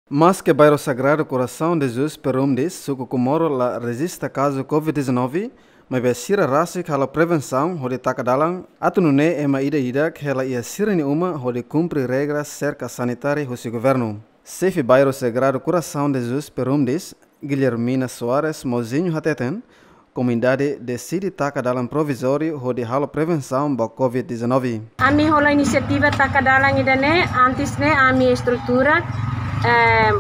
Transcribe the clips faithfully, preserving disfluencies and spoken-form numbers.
Maske Bairro Sagrado Coração de Jesus Perumdis, suku Comoro la rejista kazu covid dezanove, maibé sira rasik halo prevensaun hodi taka dalan atu nune'e ema ida-idak hela iha sira-nia uma hodi kumpre regra serka sanitária husi governu. Xefe Bairro Sagrado Coração de Jesus Perumdis, Guilhermina Soares Mozinho hateten, komunidade deside taka dalan provizóriu hodi halo prevensaun ba covid dezanove. Ami hola inisiativa taka dalan ida-ne'e, antes ne'e ami estrutura, eh,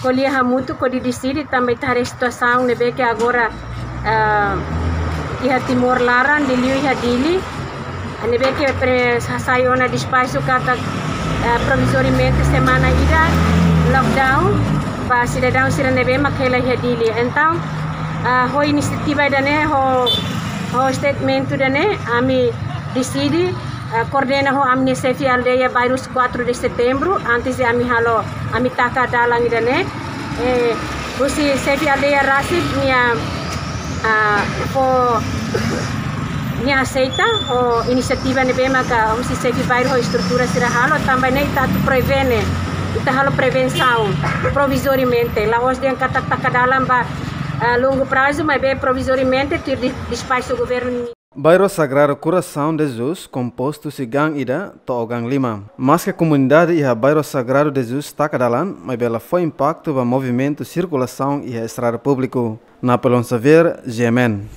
ko'alia hamutuk hodi deside tanba ita haree situasaun ne'ebé ke agora, eh, iha Timor laran, liuliu iha Dili. Ne'ebé ke pre-, hasai ona despaxu katak, eh, provizoriamente semana ida lockdown ba sidadaun sira ne'ebé mak hela iha Dili. Entaun, eh, ho inisiativa ida-ne'e, ho, ho statement ida-ne'e, ami deside, eh, koordena ho ami-nia xefe aldeia bairru quatro de Setembro, antes de ami halo, ami taka dalan ida-ne'e. Eh, husi xefe aldeia rasik nia, ah, fó, nia aseita ho inisiativa ne'ebé maka husi xefe bairru ho estrutura sira halo, tanba ne'e ita atu prevene, ita halo prevensaun provizoriamente. La'ós dehan katak taka dalan ba, ah, longu prazu, maibé provizoriamente tuir di-, despaxu governu. Bairro Sagrado Coração de Jesus kompostu husi gang ida to'o gang lima. Maske komunidade iha Bairro Sagrado de Jesus taka dalan, maibé la fó impaktu ba movimentu sirkulasaun iha estrada públiku. Napoleon Xavier, G M N.